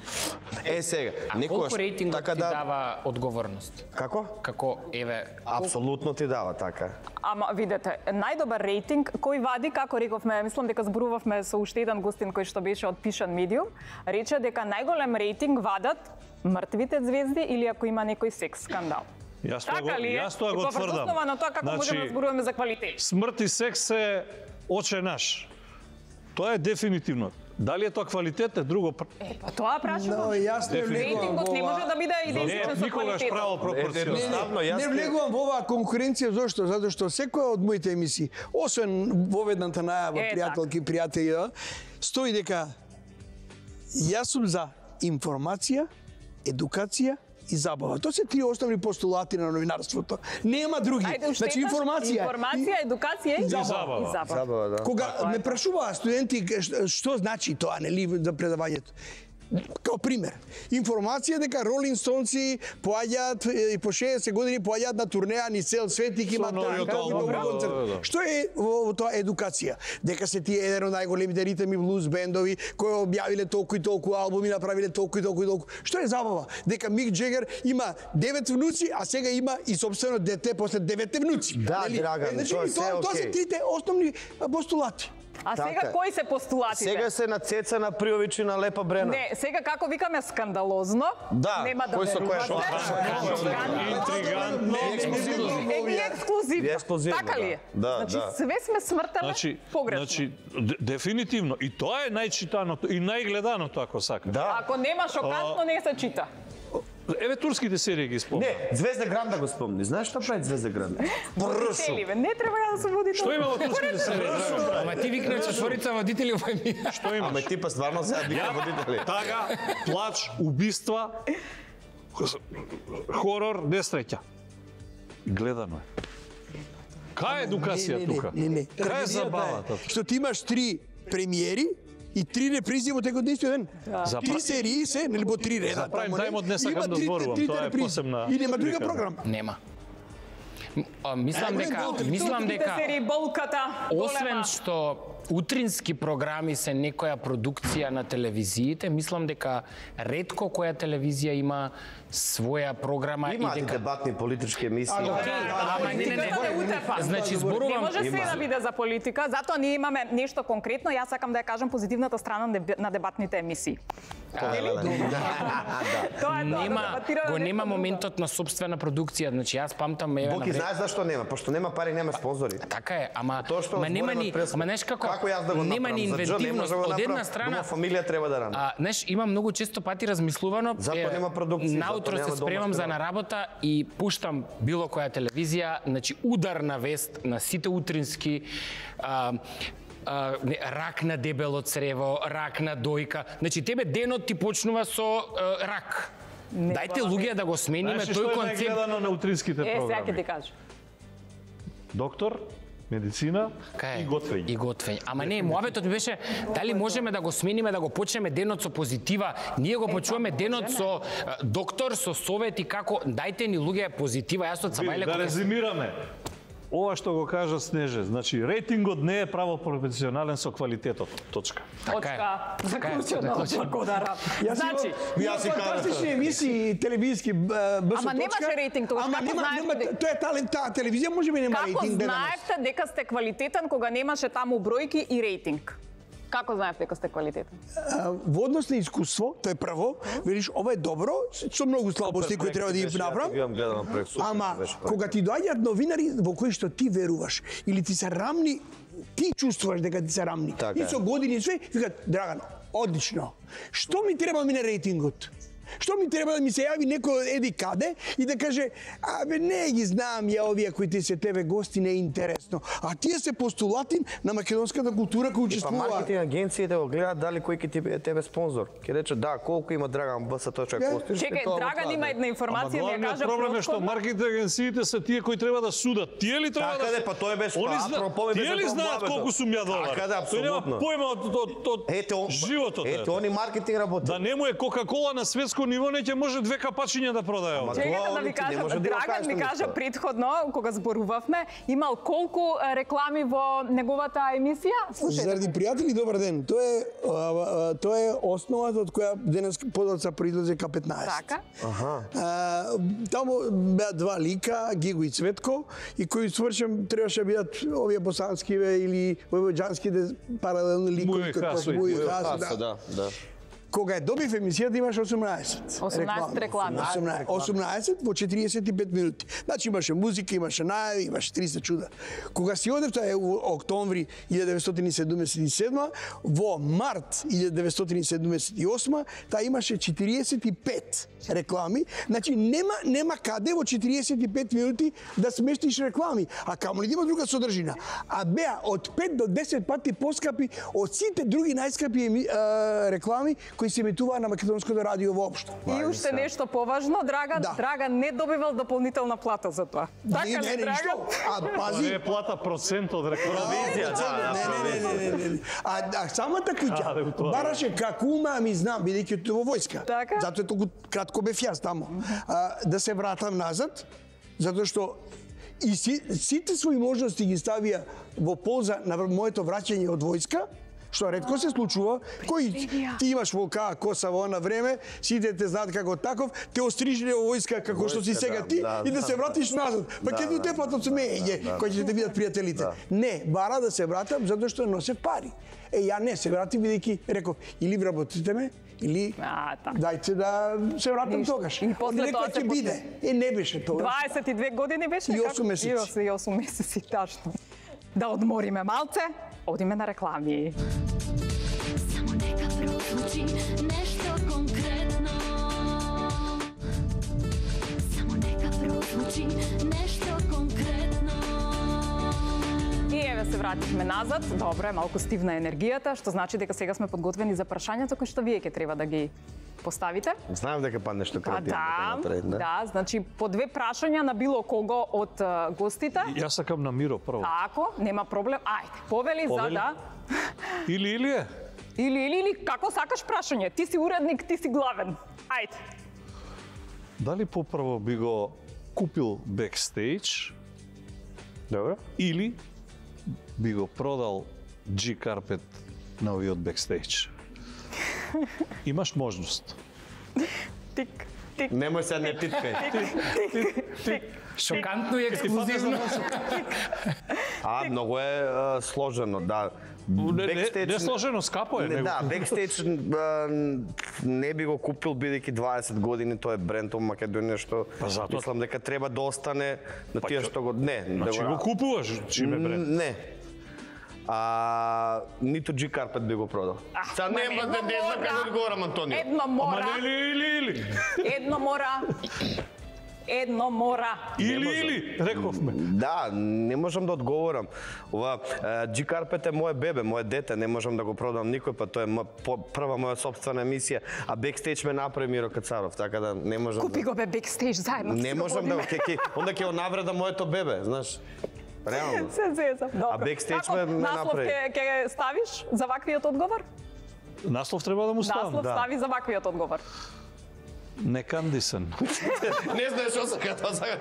Сега, Колку рейтингот така ти дава одговорност? Како? Како, еве, Апсолутно ти дава така. Ама видете, најдобар рейтинг кој вади, како рековме, мислам дека зборувавме со уште еден гостин кој што беше од Пишан медиум, рече дека најголем рейтинг вадат мртвите звезди или ако има некој секс скандал. Јас тоа Така ли е? јас тоа го И тврдам. основа на тоа како можеме да зборуваме за квалитет. Смрт и секс е оче наш. Тоа е дефинитивно. Дали е тоа квалитет е друго. Па тоа прашувам. Но јас не влегувам Рейтингот не во може да биде идентичен со Никогаш квалитетот. право пропорционално. Едноставно, јас Не влегувам во оваа конкуренција, зашто? Затоа што секоја од моите емисии, освен воведната најава пријателки и пријатели, стои дека јас сум за информација, едукација и забава. Тоа се три основни постулати на новинарството. Нема други. Значи информација, едукација и забава. Забава, да. Кога ме прашуваа студенти што значи тоа, нели, за предавањето. Као пример, информација дека Ролинг Стоунси поаѓаат и по 60 години поаѓаат на турнеа ни цел свет и имаат концерт. Што е во тоа едукација? Дека се тие еден од најголемите ритм и блуз бендови кои објавиле толку и толку албуми, направиле толку и толку и толку. Што е забава? Дека Мик Джегер има 9 внуци, а сега има и собствено дете после 9 внуци. Да, Драган, тоа се окей. Тоа се трите основни постулати. А сега кои се постулатите? Сега се на Цеца, на Приович и на Лепа Брена. Не, сега како викаме скандалозно, нема да верувате. Интригантно. Ексклузивно. Така ли е? Значи све сме смртаме погрешно. Значи дефинитивно и тоа е најчитаното и најгледаното ако сакаш. Ако нема шокантно не се чита. Еве турските серии ги спомни. Не, Звезда Гранда го спомни. Знаеш што прави Звезда Гранда? Не треба да се води тоа. Што има во турските серии? Ама ти викна четворица водители во емисија. Што имаш? Ама ти па стварно се вика водители. Тага, плач, убиства, хорор, несреќа. Гледано е. Кај е едукација тука? Не. Кај е забавата? Што ти имаш 3 премиери и 3 репризи во текот на истиот ден. 3 серии се, нели по 3 реда. Прайм тајмот не сакам да зборувам, тоа е посебна. И нема друга програма. Нема. Мислам дека серии болката. освен што утрински програми се некоја продукција на телевизиите, мислам дека ретко која телевизија има своја програма и дека дебатни политички емисии. Ама не. Значи зборувам, не може се да биде за политика, затоа ние имаме нешто конкретно, јас сакам да ја кажам позитивната страна на дебатните емисии. Нема моментот на собствена продукција, значи јас памтам еве на Боки знаеш зашто нема? Пошто нема пари, нема спонзори. Така е, ама нема ни, знаеш како? Нема ни инвентивност од една страна. Фамилија треба да рана. Знаеш, има многу често пати размислувано. Затоа нема продукција. Наутро се спремам за на работа и пуштам било која телевизија, значи ударна вест на сите утрински рак на дебело црево, рак на дојка. Значи тебе денот ти почнува со рак. Дајте луѓе да го смениме тој концепт. Што е најгледано на утринските програми? Сега ќе ти кажам. Доктор, медицина и готвење. И готвење. Ама не, муабетот беше дали можеме да го смениме, да го почнеме денот со позитива. Ние го почуваме денот со доктор, со совети како дајте ни луѓе позитива. Јас од Сабајле да резимираме. Ова што го кажа Снеже, значи рейтингот не е право пропорционален со квалитетот. Точка. Точка. Заклучено. Значи, јас и фантастични емисии телевизиски БС. Ама немаше рейтинг тогаш. Ама нема, тоа е талент, таа телевизија може би нема рейтинг. Како знаевте дека сте квалитетен кога немаше таму бројки и рейтинг? Како знаев дека сте квалитетен? Во однос на искуство, тоа е прво, видиш, ова е добро, со многу слабости кои треба да ги направам. Ама кога ти доаѓаат новинари во кои што ти веруваш или ти се рамни, ти чувствуваш дека ти се рамни. И со години све, викаат, Драган, одлично. Што ми треба мине рейтингот? Што ми треба да ми се јави некој еди каде и да каже, абе не ги знам ја овие кои ти се тебе гости не е интересно. А тие се постулати на македонската култура кои учествуваат. Па маркетинг агенциите го гледаат дали кој ќе ти биде тебе спонзор. Ќе рече да, колку има Драган БС.кост. Чекај, Драган има една информација ми ја кажа. Проблем е што маркетинг агенциите се тие кои треба да судат. Тие ли треба да? Така па тоа беше па. Тие ли знаат колку сум ја долар? Така да, апсолутно. Тој нема појма од животот. Ето они маркетинг работи. Да не му е Кока-кола на светско ниво, не ќе може 2 капачиња да продае. Чекајте да ви кажам, Драган ми кажа претходно, кога зборувавме, имал колку реклами во неговата емисија? Заради пријатели, добар ден. Тоа е основата од која денес подоцна произлезе К15. Така. Таму беа 2 лика, Гиго и Цветко, и кои свршам требаше да бидат овие босански или војвоđанските паралелни ликови да. Кога добив емисијата имаше 18 реклами. 18 во 45 минути. Значи имаше музика, имаше најави, имаше 300 чуда. Кога си одев, тоа е во октомври 1977, во март 1978, таа имаше 45 реклами. Значи нема каде во 45 минути да смештиш реклами, а камо ли да има друга содржина. А беа од 5 до 10 пати поскапи од сите други најскапи реклами кои се емитуваа на македонското радио воопшто. И уште нешто поважно, Драган, Да. Драган не добивал дополнителна плата за тоа. Така ли, ништо. Драган? А пази, Не плата процент од рекламација. Не. А самата куќа бараше како ума, ми знам, бидејќи во војска. Така? Затоа е толку кратко бев јас таму. Да се вратам назад, затоа што и сите своји можности ги ставија во полза на моето враќање од војска, што ретко се случува, кој ти имаш волка коса во она време, сите те знаат како таков, те острижиле во војска како што си сега ти и да се вратиш назад. Па ќе ти тепат од смеење, кој ќе те видат пријателите. Не, бара да се вратам затоа што носев пари. Ја не се вратив бидејќи реков или вработите ме, или дајте да се вратам тогаш. И после тоа се биде. Не беше тоа. 22 години беше? И 8 месеци. И 8 месеци, тачно. Да одмориме малце, одиме на реклами. Само нека прозвучи нешто конкретно. Само нека прозвучи нешто конкретно. И еве се вративме назад. Добро, малку стивна енергијата, што значи дека сега сме подготвени за прашањата кои што вие ќе треба да ги поставите. Знаев дека па нешто креативно. Да, значи по 2 прашања на било кого од гостите. Јас сакам на Миро прво. Ако, нема проблем. Ајде, повели за да. Или е? Или, како сакаш прашање? Ти си уредник, ти си главен. Ајде. Дали попрво би го купил бекстејдж? Добро. Или би го продал G-карпет на овиот бекстејдж? Имаш можност. Тик. Немој се не титкај. Шокантно и ексклузивно. Многу е сложено, да. Не сложено, скапо е. Да, бекстејдж не би го купил бидејќи 20 години тоа е бренд во Македонија што мислам дека треба да остане на тие што го Значи го купуваш, чиме бренд? Не. Ниту G-карпет би го продал. Са нема да не знам како одговорам, Антонио. Едно мора. Ама или. Едно мора. Или, рековме. Да, не можам да одговорам. Ова G-карпет е моје бебе, моје дете, не можам да го продам никој, па тоа е прва моја собствена емисија, а бекстејдж ме направи Миро Кацаров, така да не можам. Купи го бе бекстејдж заедно. Не можам да онда ќе навреда моето бебе, знаеш. Реално. Се зезам. Добро. А бекстејдж ме направи. Наслов ќе ставиш за ваквиот одговор? Наслов треба да му ставам. Наслов стави за ваквиот одговор. Некандисен. Не знаеш што сака тоа сака.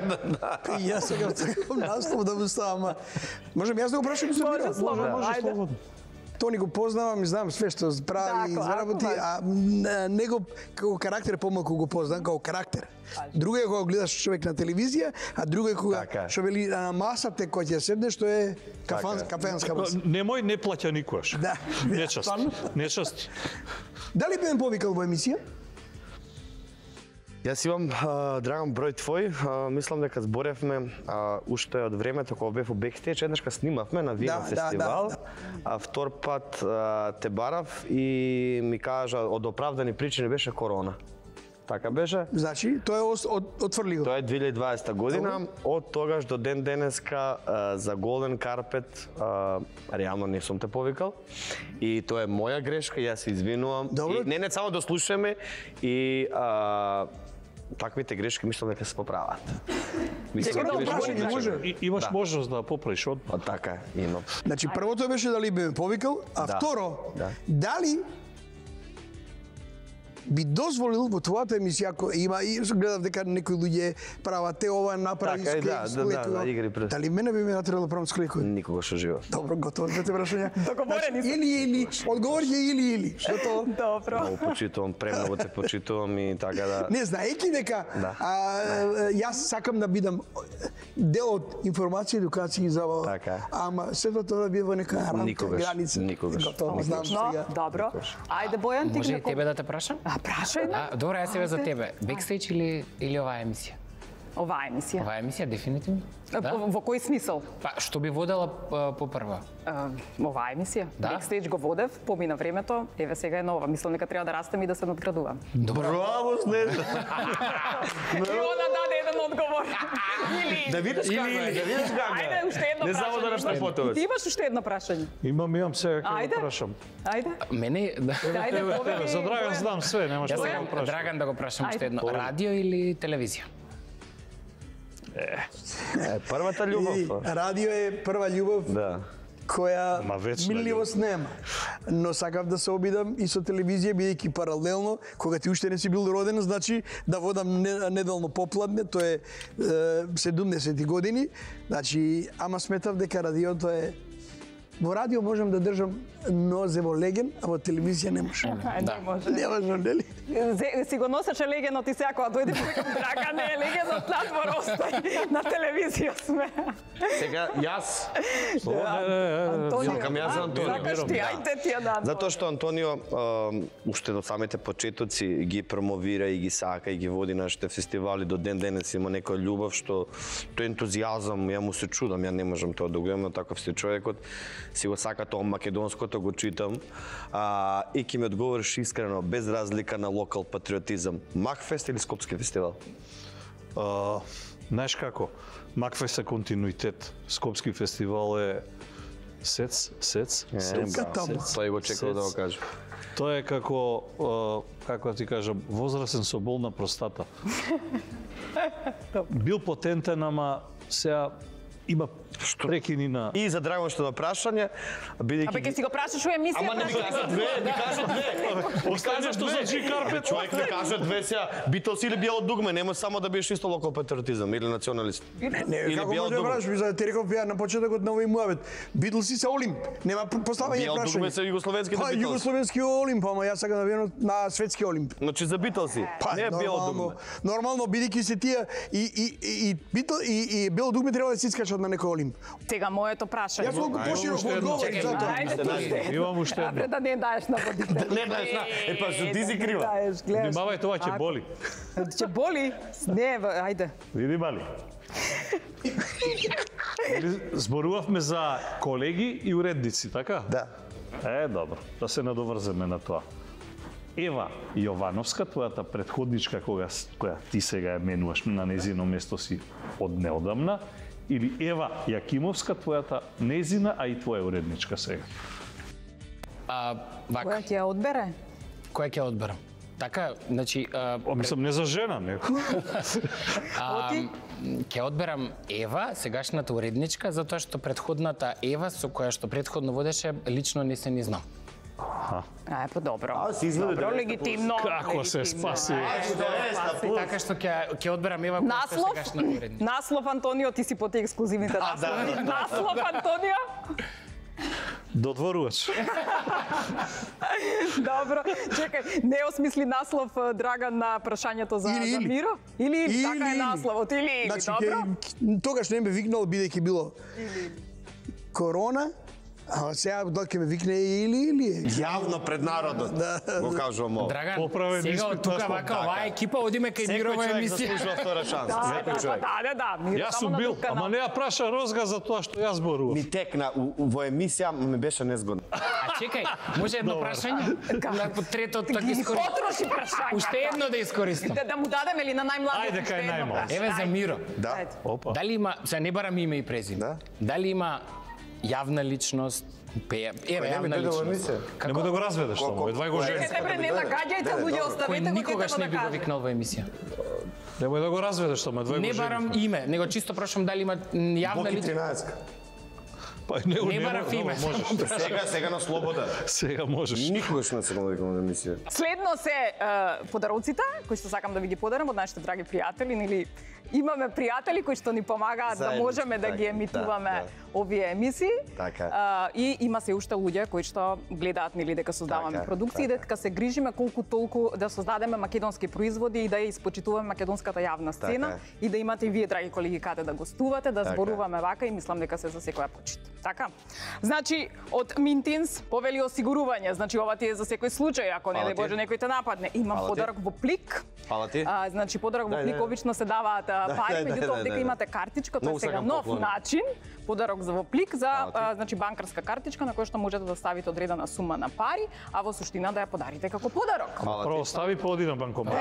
Јас сакам наслов да му ставам. Можем јас да го прашам за Миро? Може слободно. Тони го познавам и знам све што прави, заработи, а него како карактер помалку го познам, како карактер. Друго е кога гледаш човек на телевизија, а друго е кога што вели на масата кој ќе седне, што е кафенска маса. Немој не плаќа никогаш. Да. Нечаст. Дали би ме повикал во емисија? Јас имам, Драган, број твој, мислам дека зборевме уште од времето кога бев во бекстејдж, еднаш снимавме на Вино фестивал, а втор пат те барав и ми кажа од оправдани причини беше корона. Така беше. Значи, тоа е отфрли го. Тоа е 2020 година. Од тогаш до ден денеска за Голден карпет реално не сум те повикал. И тоа е моја грешка, јас се извинувам. И не само да слушаме и таквите грешки мислам дека се поправат. Имаш можност да поправиш одма. Така, имам. Значи, првото беше дали би ме повикал, а второ, дали би дозволил во твојата емисија, ако има и гледав дека некои луѓе прават те ова направи склеку. Дали мене би ме натерало да правам склеку? Никогаш во живот. Добро, готово, двете прашања. Договорени сме. Или, одговор е или. Што тоа? Добро. Много почитувам, премногу те почитувам и така да. Не знаеки дека јас сакам да бидам дел од информација и едукација за ова. Така. Ама сето тоа да биде во нека рамка, граница. Никогаш. Готово, знам сега. Добро. Ајде Бојан, ти Може и тебе да те прашам? Прашај, да. Добро, јас сега за тебе. Бекстејдж или оваа емисија? Оваа емисија. Оваа емисија дефинитивно. Во кој смисол? Па што би водела по прва? Оваа емисија. Бекстејдж го водев, помина времето, еве сега е нова. Мислам дека треба да растем и да се надградувам. Браво, Снежана. И она даде еден одговор. Да видиш како е, да видиш како е. Ајде, уште едно прашање. Не само да раште потовеш. Ти имаш уште едно прашање? Имам сега ќе Ајде. го прашам. Ајде. Мене Ајде, повели. За Драган знам све, нема што да го прашам. Драган да го прашам уште едно. Ајде. Радио или телевизија? Првата љубов. Радио е прва љубов. Да. Која Ма вечна минливост нема. Но сакав да се обидам и со телевизија, бидејќи паралелно, кога ти уште не си бил роден, значи да водам неделно попладне, тоа е 70 години, значи, ама сметав дека радиото е... Во радио можам да држам нозе во леген, а во телевизија не можам. Не може. Не можам, нели? Си го носеше легенот и сега кога дојде викам Драган, не е легенот надвор остои. На телевизија сме. Сега јас Антонио. Сакам јас за Антонио. Сакаш ти, ајде ти ја дадам. Затоа што Антонио уште до самите почетоци ги промовира и ги сака и ги води нашите фестивали, до ден денес има некоја љубов што тој ентузијазам, ја му се чудам, ја не можам тоа да го имам, таков си човекот, си го сака тоа македонското, го читам и ќе ми одговориш искрено, без разлика на локал патриотизам, Макфест или Скопски фестивал? Знаеш како? Макфест е континуитет. Скопски фестивал е сец. Тој го чекал да го каже. Тоа е како да ти кажам, возрасен со бол на простата. Бил потентен, ама сега има прекини на... И за Драган што на прашање, бидејќи... Абе, ке си го прашаш у емисија. Ама не ми кажа две, не кажа две. Остане што за Джи Карпет. Човек не кажа две сега. Битлс или Биело дугме, нема само да биеш исто локал патриотизам или националист. Не, Или како Биело може да дугме. прашаш, за те реков ја на почетокот на овој муабет. Битлси се Олимп, нема поставање Биело прашање. дугме се југословенски да Битлс. Југословенски Олимп, ама јас сакам да бидам на светски Олимп. Значи за Битлси, не Биело дугме. Нормално бидејќи се тие и Биело дугме треба да се искачат на некој Олимп. Сега моето прашање. Јас колку пошироко одговорив за тоа. Ајде, Имам уште едно. да не даеш на водите. Не знаеш, па што ти си крива. Внимавај, тоа ќе боли. Ќе боли? Не, ајде. Види мали. Зборувавме за колеги и уредници, така? Да. Добро, да се надоврземе на тоа. Ева Јовановска, твојата претходничка која ти сега ја менуваш на незино место си од неодамна, или Ева Јакимовска, твојата незина, а и твоја уредничка сега? Вака, Која ќе ја одбере? која ќе одберам? Така, значи... Мислам, не за жена, не. Ќе одберам Ева, сегашната уредничка, затоа што претходната Ева, со која што претходно водеше, лично не се ни знам. Па добро. си изгледа Добро, 90%. легитимно. Како се спаси? Така што ќе одберам Ева, која што Наслов? сегашна уредничка. Наслов, Антонио, ти си по тие ексклузивните наслови. Наслов, Антонио? Додворувач. Добро. Чекај, не осмисли наслов Драган на прашањето за Миро? Или, така е насловот, или, добро? Тогаш не ме викнал бидејќи било корона, а сега дали ќе ме викне или. Јавно пред народот. Го кажувам ово. Драган, Поправен сега испит од тука наслов. вака оваа екипа одиме кај Мирова Секој човек емисија. заслужува втора шанса. Секој човек. Да. Миро, Јас само сум на бил, друг канал. ама не ја праша Розга за тоа што јас зборував. Ми текна во емисија, ми беше незгодно. А чекај, може едно прашање? На третото така искористам. Потроши прашање. Уште едно да искористам. Да му дадеме ли на најмладиот? Ајде, кај најмалот. Еве за Миро. Да. Опа. Дали има, сега не барам име и презиме. Да. Дали има јавна личност, еве јавна личност. Нема да го разведеш само, едва го жени. Чекайте, бре, не нагаѓајте луѓе, Кој оставете го никогаш детето не да би го каже. викнал во емисија. Немој да го разведеш само, едва го Не жени. барам име, него чисто прашам дали има јавна Боки личност. 13. Па него Не барав име. можеш. Сега на слобода. Сега можеш. Никогаш не се го викам на емисија. Следно се подароците, кои што сакам да ви ги подарам од нашите драги пријатели, или имаме пријатели кои што ни помагаат да Заедно, можеме да така, ги емитуваме да. овие емисии. Така. И има се уште луѓе кои што гледаат нели дека создаваме Така, продукции, така. дека се грижиме колку толку да создадеме македонски производи и да ја испочитуваме македонската јавна сцена Така. и да имате и вие драги колеги каде да гостувате, да Така. зборуваме вака и мислам дека се за секоја почит. Така. Значи од Минтинс повели осигурување, значи ова ти е за секој случај, ако не Фала дај ти. Боже некој те нападне. Имам Фала ти. подарок во плик Фала ти. Значи подарок во плик обично се даваат пари, меѓутоа овде имате картичка, тоа е сега нов начин. Подарок за во плик за значи банкарска картичка на која што можете да ставите одредена сума на пари, а во суштина да ја подарите како подарок. Прво стави по один банкомат.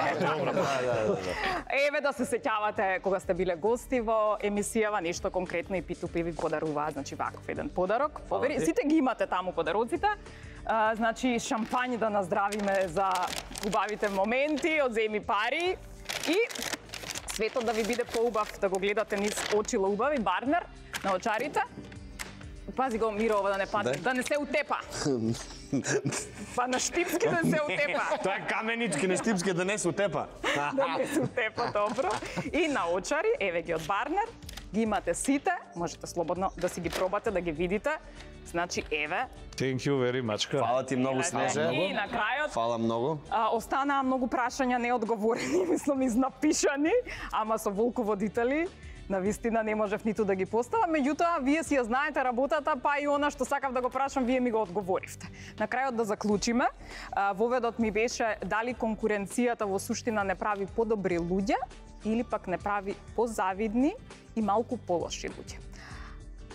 Еве да се сеќавате кога сте биле гости во емисијава, нешто конкретно и P2P ви подарува, значи ваков еден подарок. Сите ги имате таму подароците. Значи шампањ да наздравиме за убавите моменти од Земи пари и светот да ви биде поубав, да го гледате низ очила убави, Барнер на очарите. Пази го, Миро, ова да не падне, да не се утепа. Па на штипски да се утепа. Тоа е каменички на штипски да не се утепа. Да не се утепа, добро. И на очари, еве ги од Барнер, ги имате сите, можете слободно да си ги пробате, да ги видите. Значи, еве. Thank you very much. Фала ти многу, Снеже. И на крајот. Фала многу. Останаа многу прашања неодговорени, мислам изнапишани, ама со волководители. Навистина не можев ниту да ги поставам, меѓутоа вие си ја знаете работата, па и она што сакав да го прашам, вие ми го одговоривте. На крајот да заклучиме, воведот ми беше дали конкуренцијата во суштина не прави подобри луѓе или пак не прави позавидни и малку полоши луѓе.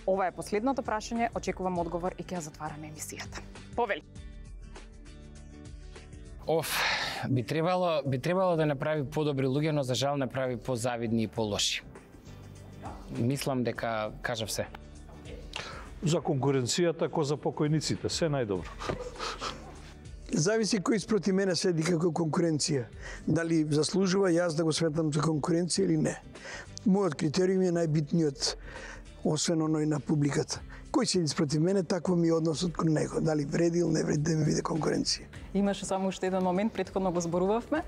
Ова е последното прашање, очекувам одговор и ќе ја затвараме емисијата. Повели. Би требало да не прави подобри луѓе, но за жал не прави позавидни и полоши. Мислам дека кажав се. За конкуренцијата ко за покојниците, се најдобро. Зависи кој спроти мене седи како конкуренција. Дали заслужува јас да го сметам за конкуренција или не. Мојот критериум е најбитниот, освен оној на публиката. Кој седи спроти мене, такво ми е односот кон него. Дали вреди или не вреди да ми биде конкуренција. Имаше само уште еден момент, претходно го зборувавме.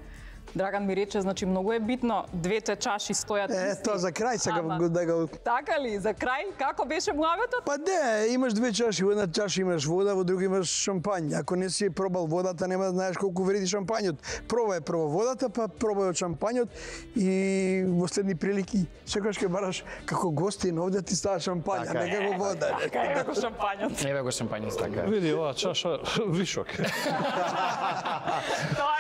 Драган ми рече, значи многу е битно, двете чаши стојат исти. Тоа за крај сакам да го... Така ли, за крај? Како беше муаветот? Па де, имаш две чаши, во една чаша имаш вода, во друга имаш шампањ. Ако не си пробал водата, нема да знаеш колку вреди шампањот. Пробај прво водата, па пробај од шампањот и во следни прилики секогаш ќе бараш како гостин овде ти става шампања, не како вода. Така е како шампањот. Еве го шампањот, така. Види, оваа чаша вишок. Тоа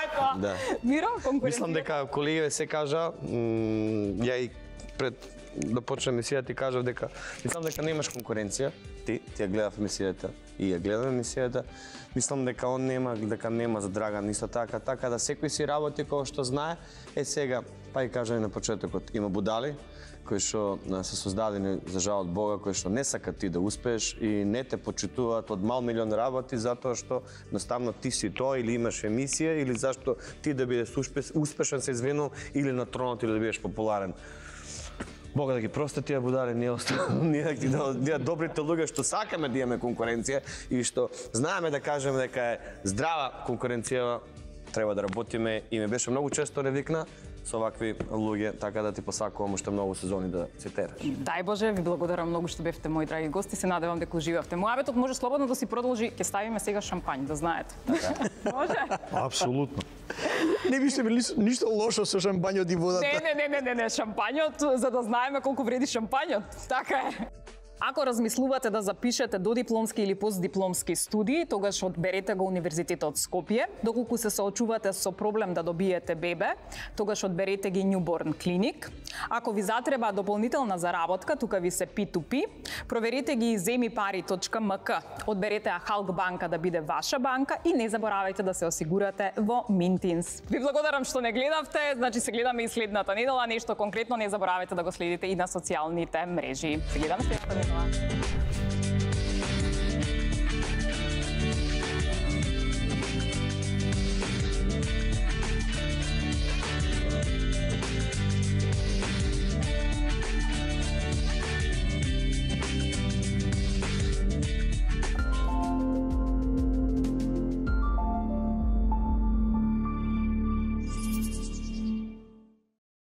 е тоа. Да. Миро, Мислам дека колегиве се кажа, ја и пред да почнем емисијата ти кажав дека мислам дека немаш конкуренција. Ти ја гледав емисијата и ја гледам емисијата. Мислам дека он нема за Драган исто така да секој си работи кој што знае. Сега, па и кажа и на почетокот, има будали кои што се создадени за жал од Бога, кои што не сакат ти да успееш и не те почитуваат од мал милион работи затоа што едноставно ти си тоа или имаш емисија или зашто ти да бидеш успешен се извинувам или на тронот или да бидеш популарен. Бога да ги прости тие будали, ние добрите луѓе што сакаме да имаме конкуренција и што знаеме да кажеме дека е здрава конкуренција, треба да работиме и ме беше многу често ревикна со вакви луѓе, така да ти посакувам уште многу сезони да се тераш. Дај Боже, ви благодарам многу што бевте мои драги гости, се надевам дека уживавте. Муабетот може слободно да си продолжи, ќе ставиме сега шампањ, да знаете. Може? Апсолутно. Не биште били ништо лошо со шампањот и водата. Не, шампањот, за да знаеме колку вреди шампањот. Така е. Ако размислувате да запишете додипломски или постдипломски студии, тогаш одберете го Универзитетот Скопје. Доколку се соочувате со проблем да добиете бебе, тогаш одберете ги Newborn Clinic. Ако ви затреба дополнителна заработка, тука ви се P2P, проверете ги zemipari.mk. Одберете Халк банка да биде ваша банка и не заборавајте да се осигурате во Mintins. Ви благодарам што не гледавте, значи се гледаме и следната недела, нешто конкретно не заборавајте да го следите и на социјалните мрежи. Се гледаме следната недела.